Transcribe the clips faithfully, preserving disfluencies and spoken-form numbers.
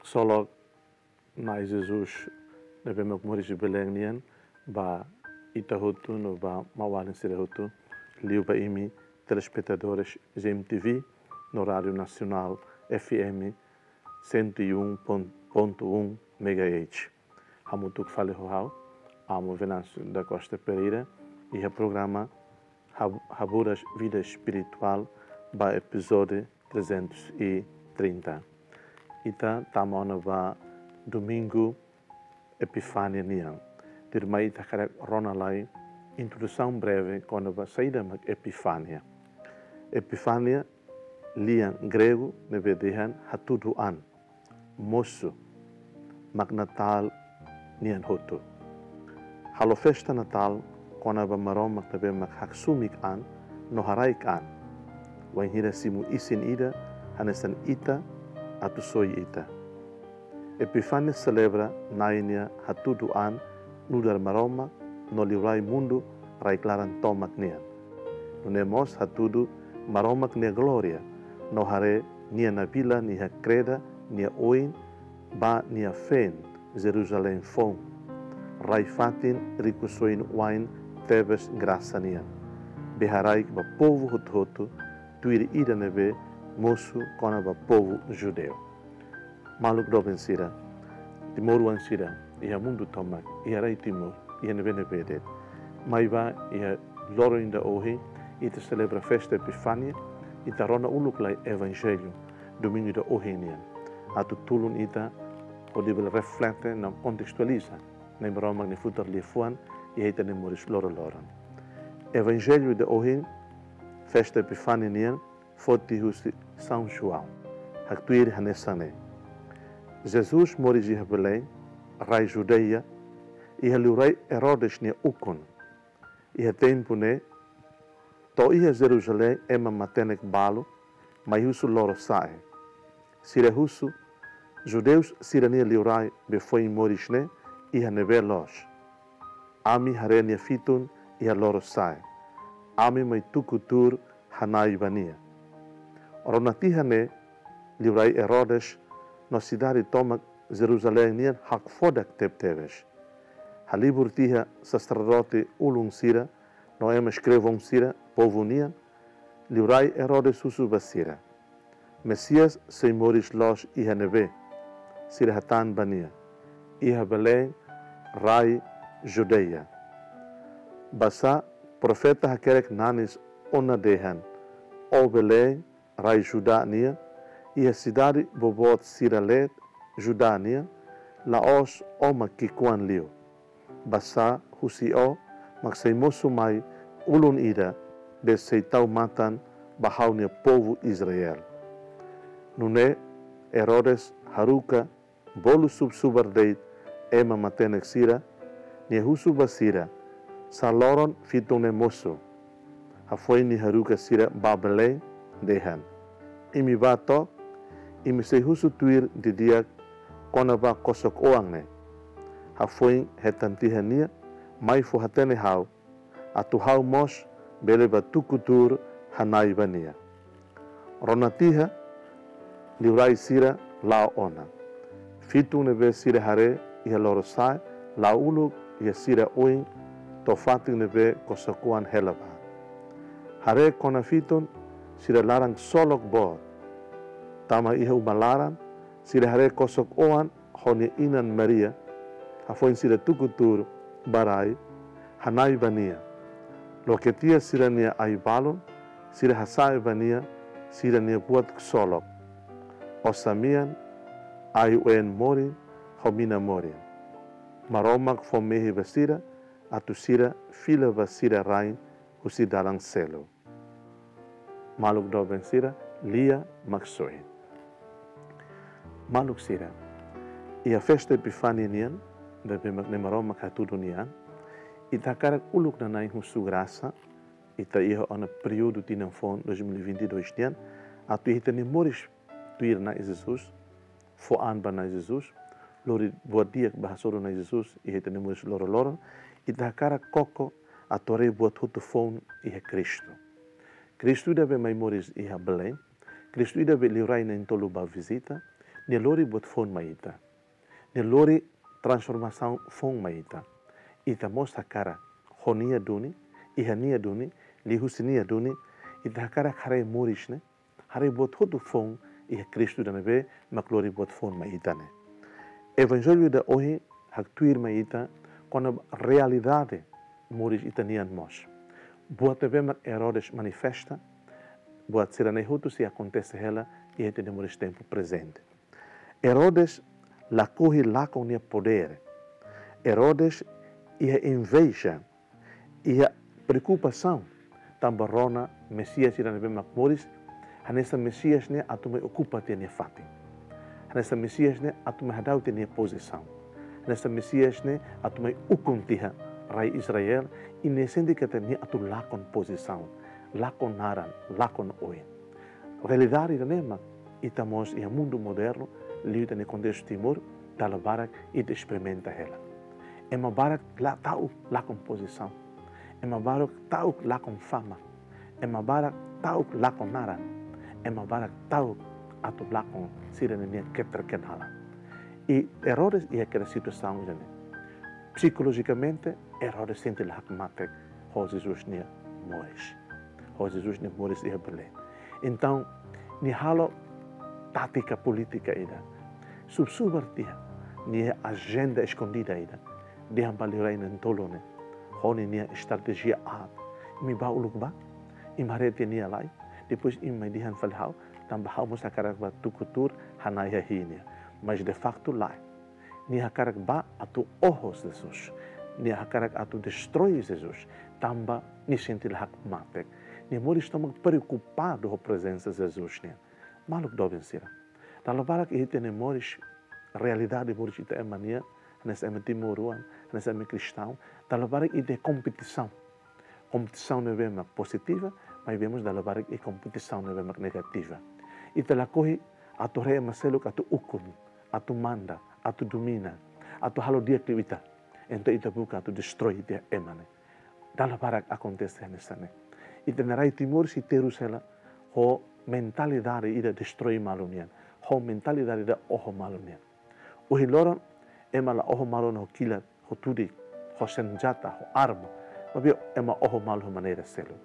Ksolok Na'i Jesus ne'ebé mak moris iha Belém nian ba ita hotu no ba maun-alin sira hotu, liu ba imi telespetadores G M T V no Rádio Nacional F M cento e um ponto um megahertz. Hamutuk fali ho ha'u, Amo Venâncio da Costa Pereira, iha programa Hab-, Haburas Vida Espiritual ba epizódiu trezentos e trinta. Ita tama ona ba Domingu Epifánia nian. Tuirmai ita hakarak rona lai introdusaun breve kona-ba saida mak Epifánia. Epifánia lian gregu ne'ebé dehan hatudu an, mosu, mak Natál nian hotu. Halo festa Natál kona-ba Maromak ne'ebé mak haksoit an no haraik an, wainhira simu isin ida hanesan ita atu soi ita. Epifánia selebra Na'i nia hatudu an nu'udar Maromak no liurai mundu rai-klaran tomak nian. Nune'e mós hatudu Maromak nia glória no haree nia nabilan iha kreda nia oin ba nia feen Jerusalém foun, rai-fatin rikusoin wa'in tebes grasa nian, be haraik ba povu hotu-hotu, tuir ida ne'ebé mosu kona-ba povu judeu. Maluk doben sira, timoroan sira iha mundu tomak, iha rai Timor, iha ne'ebé-ne'ebé de'it. Maibé iha loron ida ohin, ita selebra festa Epifánia, ita rona uluk lai Evanjellu Domingu ida ohin nian, atu tulun ita hodi bele reflete no kontestualiza Na'i Maromak nia futar liafuan iha ita-nia moris loroloron. Evanjellu ida ohin, festa Epifánia nian, foti husi São João. Haktuir hanesan ne'e: Jesus moris iha Belém, rai Judeia, iha liurai Herodes nia ukun. Iha tempu ne'e, to'o iha Jerusalém ema matenek balu, mai husu lorosa'e. Sira husu, judeus sira-nia liurai be foin moris ne'e iha ne'ebé loos? Ami haree nia fitun iha lorosa'e. Ami mai tuku tuur hana'i ba nia. Rona tiha ne'e, liurai Herodes no sidade tomak Jerusalém nian hakfodak tebetebes. Halibur tiha saserdote ulun sira no ema eskrevon sira povu nian, liurai Herodes husu ba sira: Mesias sei moris loos iha ne'ebé? Sira hatán ba nia: Iha Belém, rai Judeia. Basá profeta hakerek nanis ona dehan: Ó Belém, rai Judá nian, iha sidade boboot sira leet Judá nian, la'ós ó mak ki'ikoan liu. Basá husi ó mak sei mosu mai ulun ida be sei tau matan ba ha'u-nia povu Israel. Nune'e Herodes haruka bolu subsubar de'it ema matenek sira, nia husu ba sira: Sá loron fitun ne'e mosu? Hafoin nia haruka sira ba Belém, dehan: Imi bá to'ok, imi sei husu tuir didi'ak kona-ba kosok-oan ne'e. Hafoin hetan tiha nia, mai fó-hatene ha'u, atu ha'u mós bele bá tuku tuur hana'i ba nia. Rona tiha, liurai sira la'o ona. Fitun ne'ebé sira haree iha lorosa'e la'o uluk iha sira oin to'o fatin ne'ebé kosok-oan hela bá. Haree kona fitun, sira laran ksolok boot. Tama iha uma laran, sira haree kosok-oan ho nia inan Maria, hafoin sira tuku tuur ba rai, hana'i ba nia. Loke tiha sira-nia ai-balun, sira hasa'e ba nia sira-nia buat ksolok: osan-mean, ai-ween morin, ho mina morin. Maromak fó mehi ba sira, atu sira fila ba sira rain husi dalan seluk. Maluk doben sira, lia Maksoin. Maluk sira, iha festa Epifánia nian, ne'ebé mak Na'i Maromak hatudu nia an, ita hakarak uluk nanain husu grasa, ita iha ona períodu tinan foun dois mil e vinte e dois nian, atu ita-nia moris tuir Na'i Jesus, fó an ba Na'i Jesus, lori buat di'ak ba hasoru Na'i Jesus iha ita-nia moris loroloron, ita hakarak koko atu haree buat hotu foun iha Kristu. Kristu ida be mai moris iha Belém, Kristu ida be liurai na'in-tolu bá vizita, Nia lori buat foun mai ita. Nia lori transformasaun foun mai ita. Ita mós hakarak, ho nia duni, iha nia duni, liuhusi nia duni, ita hakarak haree moris ne'e, haree buat hotu foun iha Kristu ida ne'ebé mak lori buat foun mai ita ne'e. Evanjellu ida ohin haktuir mai ita kona-ba realidade moris ita-nian mós. Buat ne'ebé mak Herodes manifesta, buat sira-ne'e hotu sei akontese hela iha ita-nia moris tempu prezente. Herodes lakohi lakon nia podér. Herodes iha inveja, iha preokupasaun, tanba rona Mesias ida ne'ebé mak moris, hanesan Mesias ne'e atu mai okupa tiha nia fatin. Hanesan Mesias ne'e atu mai hadau tiha nia pozisaun. Hanesan Mesias ne'e atu mai ukun tiha rai Israel, i nia sente katak nia atu lakon pozisaun, lakon naran, lakon oin. Realidade ida-ne'e mak ita mós iha mundu modernu, liu ita-nia kontestu Timor, dala barak ita esperimenta hela. Ema barak la ta'uk lakon pozisaun. Ema barak ta'uk lakon fama. Ema barak ta'uk lakon naran. Ema barak ta'uk atu lakon sira-nia keterkenalan. I Herodes iha kera situasaun ida-ne'e. Psikolojikamente, Herodes sente la hakmatek ho Jesus nia moris. Ho Jesus nia moris iha Belém. Entaun, nia halo tátika polítika ida. Subar-subar tiha nia ajenda eskondida ida. Dehan ba liurai na'in-tolu ne'e, ho ninia estratéjia aat: imi bá uluk bá, imi haree tiha nia lai, depois imi mai dehan fali ha'u, tanba ha'u mós hakarak bá tuku tuur, hana'i hahi'i nia. Mas de facto lae. Nia hakarak bá atu oho Jesus. Nia hakarak atu destroi Jesus. Tanba nia sente la hakmatek. Nia moris tomak preokupadu ho prezensa Jesus nian. Maluk doben sira, dala barak iha ita-nia moris, realidade moris ita ema nian, hanesan ema timoroan, hanesan ema kristaun, dala barak ita iha kompetisaun. Kompetisaun ne'ebé mak pozitiva, maibé mós dala barak iha kompetisaun ne'ebé mak negativa. Ita lakohi atu haree ema seluk atu ukun, atu manda, atu domina, atu halo di'ak liu ita. Entaun ita buka atu destroi tiha ema ne'e. Dala barak akontese hanesan ne'e. Ita-nia rai Timor sei terus hela ho mentalidade ida destroi malu nian, ho mentalidade ida oho malu nian. Ohin loron, ema la oho malu ona ho kilat, ho tudik, ho senjata, ho arma. Maibé ema oho malu ho maneira seluk.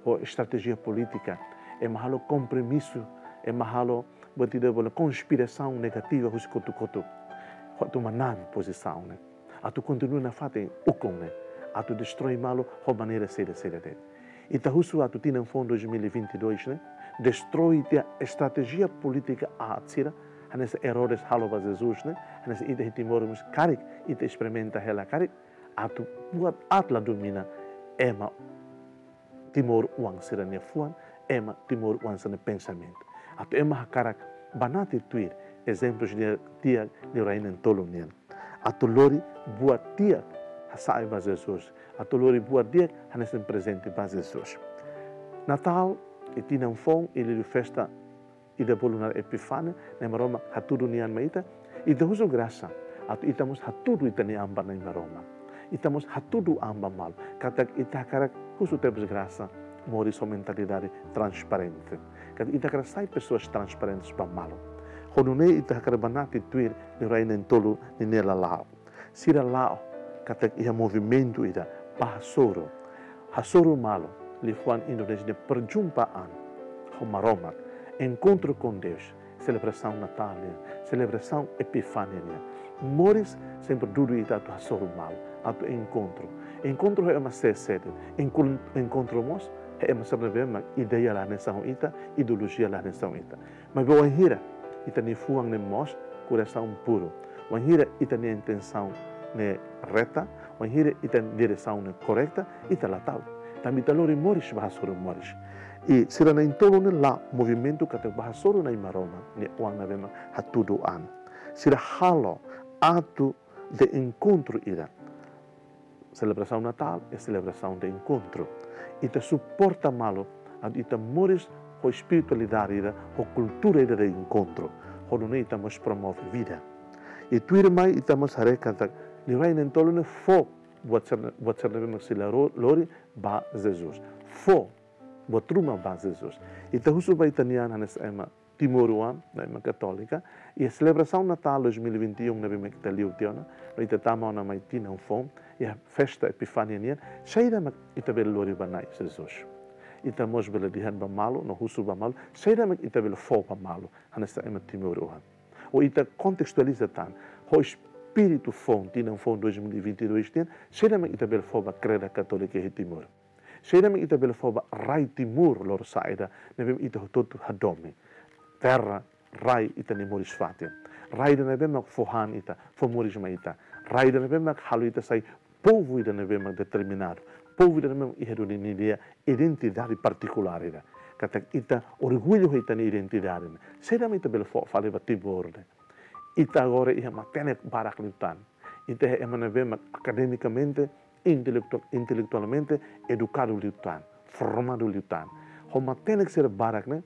Ho estratéjia polítika, ema halo kompromisu, ema halo buat ida bolu konspirasaun negativa husi kotuk-kotuk. Atu manán pozisaun ne'e. Atu kontinua nafatin ukun ne'e. Atu destroi malu ho maneira saida-saida de'it. Ita husu atu tinan foun dois mil e vinte e dois ne'e destroi tiha estratéjia polítika aat sira, hanesan Herodes halo ba Jesus ne'e, hanesan ita iha Timor mós karik ita esperimenta hela karik, atu buat aat la domina ema timoroan sira-nia fuan, ema timoroan sira-nia pensamentu. Atu ema hakarak banati tuir ezemplu di'ak liurai na'in-tolu nian. Atu lori buat di'ak hasa'e ba Jesus. Atu lori buat di'ak hanesan prezente ba Jesus. Natál, i tinan foun, i liuliu festa ida bolu naran Epifania, Nai Maromak hatudu nia an mai ita, ita husu grasa, atu ita mós hatudu ita-nia an ba Nai Maromak. Ita mós hatudu an ba malu. Katak ita hakarak husu tebes grasa, moris ho mentalidade transparente. Katak ita hakarak sai pessoas transparentes ba malu. Ho nune'e ita hakarak banati tuir liurai na'in-tolu ninia lala'ok. Sira la'o katak iha movimentu ida bá hasoru. Hasoru malu, liafuan Indonézia dehan perjumpaan ho Maromak, encontro com Deus, selebrasaun Natál nian, selebrasaun Epifania nian. Moris sempre dudu ita atu hasoru malu, atu enkontru. Enkontru ho ema sé-sé de'it, enkon-, enkontru mós ho ema sira ne'ebé mak ideia la hanesan ho ita, ideolojia la hanesan ho ita. Maibé wainhira ita-nia fuan ne'e moos, korasaun puru, wainhira ita-nia intensaun ne'e reta, wainhira ita-nia diresaun ne'e korreta, ita la ta'uk. Tanba ita lori moris bá hasoru moris. I sira na'in-tolu ne'e la'o movimentu katak bá hasoru Nai Maromak nia oan ne'ebé mak hatudu an. Sira halo atu de enkontru ida. Selebrasaun Natál é selebrasaun de enkontru. Ita suporta malu atu ita moris ho espiritualidade ida, ho kultura ida de enkontru. Ho nune'e ita mós promove vida. I tuirmai ita mós haree katak liurai na'in-tolu ne'e fó buat sira, buat sira ne'ebé mak sei la ro-, lori ba Jesus. Fó buat ruma ba Jesus. Ita husu ba ita-nia an hanesan ema Timoroan, no ema katólika, iha selebrasaun Natál dois mil e vinte e um ne'ebé mak ita liu tiha ona, no ita tama ona mai tinan foun, iha festa Epifania nian, saida mak ita bele lori ba Na'i Jesus. Ita mós bele dehan ba malu, no husu ba malu, saida mak ita bele fó ba malu, hanesan ema timoroan. Ou ita kontestualiza tan, ho espíritu foun, tinan foun dois mil e vinte e dois nian, saida mak ita bele fó ba kreda katólika iha Timor. Saida mak ita bele fó ba rai Timor lorosa'e ida, ne'ebé ita hotu-hotu hadomi. Terra, rai ita-nia moris-fatin. Rai ida ne'ebé mak fó han ita, fó moris mai ita. Rai ida ne'ebé mak halo ita sai povu ida ne'ebé mak determinadu. Povu ida ne'ebé mak iha duni nia identidade partikulár ida. Katak ita orgullu ho ita-nia identidade ne'e. Saida mak ita bele fó fali ba Timor ne'e. Ita agora iha matenek barak liután. Ita iha ema ne'ebé mak akademikamente, intelektu-, intelektualmente edukadu liután, formadu liután. Ho matenek sira barak ne'e,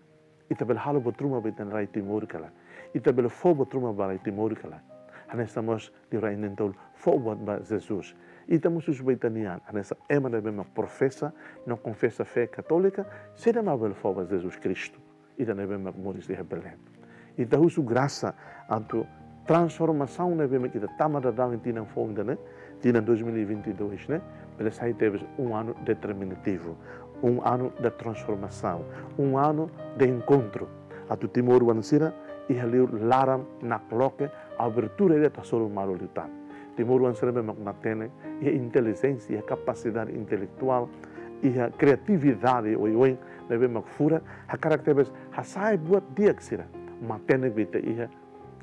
ita bele halo buat ruma ba ita-nia rai Timor ka lae. Ita bele fó buat ruma ba rai Timor ka lae. Hanesan mós liurai na'in-tolu fó buat ba Jesus. Ita mós husu ba ita-nia an, hanesan ema ne'ebé mak profesa, no konfesa fé katólika, saida mak bele fó ba Jesus Kristu. Ida ne'ebé mak moris iha Belém. Ita husu grasa atu transformasaun ne'ebé mak ita tama daudaun iha tinan foun ida-ne'e, tinan dois mil e vinte e dois ne'e, bele sai tebes um ano determinativo, um ano da transformação, um ano de encontro. Atu timoroan sira iha liur laran nakloke abertura ida atu hasoru malu liután. Timoroan sira ne'ebé mak matenek, iha intelijénsia, iha kapasidade intelektuál, iha kriatividade oioin ne'ebé mak furak, hakarak tebes hasa'e buat di'ak sira. Matenek be ita iha,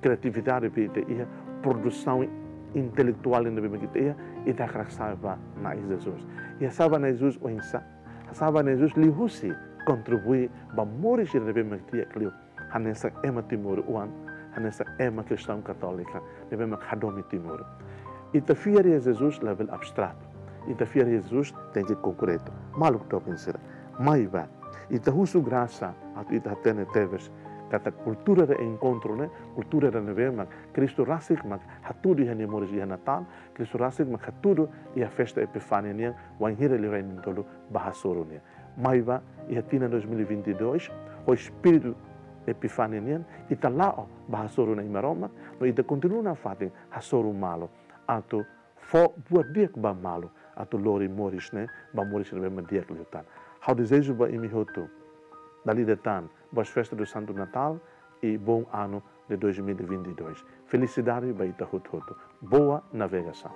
kriatividade be ita iha, produsaun intelektuál ne'ebé mak ita iha, ita hakarak sa'e ba Na'i Jesus. Iha sa'e ba Na'i Jesus oinsá? Sa'e ba Na'i Jesus liuhusi kontribui ba moris ida ne'ebé mak di'ak liu. Hanesan ema timoroan, hanesan ema kristaun katólika, ne'ebé mak hadomi Timor. Ita fiar iha Jesus labele abstratu. Ita fiar iha Jesus tenke konkretu. Maluk doben sira. Mai bá. Ita husu grasa atu ita hatene tebes katak kultura de enkontru ne'e, kultura ida ne'ebé mak Kristu rasik mak hatudu iha nia moris iha Natál, Kristu rasik mak hatudu iha festa Epifania nian, wainhira liurai na'in-tolu bá hasoru nia. Mai bá, iha tinan dois mil e vinte e dois, ho espíritu Epifania nian, ita la'o bá hasoru Na'i Maromak, no ita kontinua nafatin hasoru malu, atu fó buat di'ak ba malu, atu lori moris ne'e ba moris ne'ebé mak di'ak liután. Ha'u dezeja ba imi hotu, dala ida tan, boas festas do Santo Natal e bom ano de dois mil e vinte e dois. Felicidade ba ita hotu-hotu. Boa navegação.